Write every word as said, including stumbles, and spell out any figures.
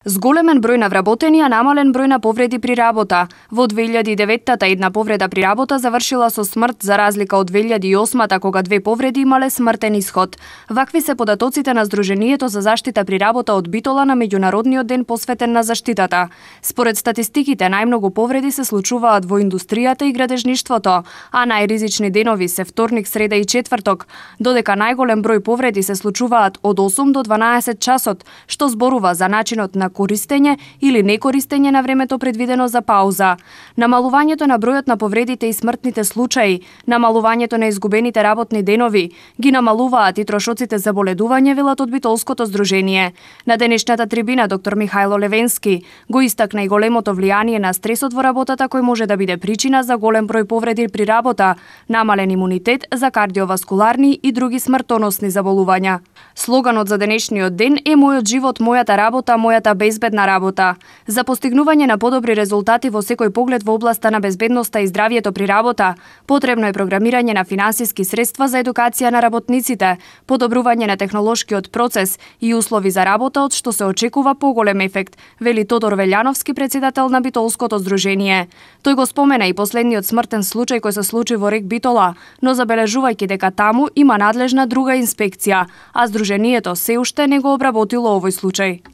Зголемен број на вработени, а намален број на повреди при работа. Во две илјади и деветта една повреда при работа завршила со смрт, за разлика од две илјади и осма кога две повреди имале смртен исход. Вакви се податоците на Сдруженијето за заштита при работа од Битола на меѓународниот ден посветен на заштитата. Според статистиките, најмногу повреди се случуваат во индустријата и градежништвото, а најризични денови се вторник, среда и четврток, додека најголем број повреди се случуваат од осум до дванаесет часот, што зборува за начинот на користење или некористење на времето предвидено за пауза. Намалувањето на бројот на повредите и смртните случаи, намалувањето на изгубените работни денови, ги намалуваат и трошоците за боледување, велат од Битолското здружение. На денешната трибина доктор Михајло Левенски го истакна и големото влијание на стресот во работата кој може да биде причина за голем број повреди при работа, намален имунитет за кардиоваскуларни и други смртоносни заболувања. Слоганот за денешниот ден е "Мојот живот, мојата работа, мојата безбедна работа". За постигнување на подобри резултати во секој поглед во областа на безбедноста и здравието при работа, потребно е програмирање на финансиски средства за едукација на работниците, подобрување на технолошкиот процес и услови за работа од што се очекува поголем ефект, вели Тодор Велјановски, председател на Битолското здружение. Тој го спомена и последниот смртен случај кој се случи во Рек Битола, но забележувајќи дека таму има надлежна друга инспекција, а здруженијето се уште не го обработило овој случај.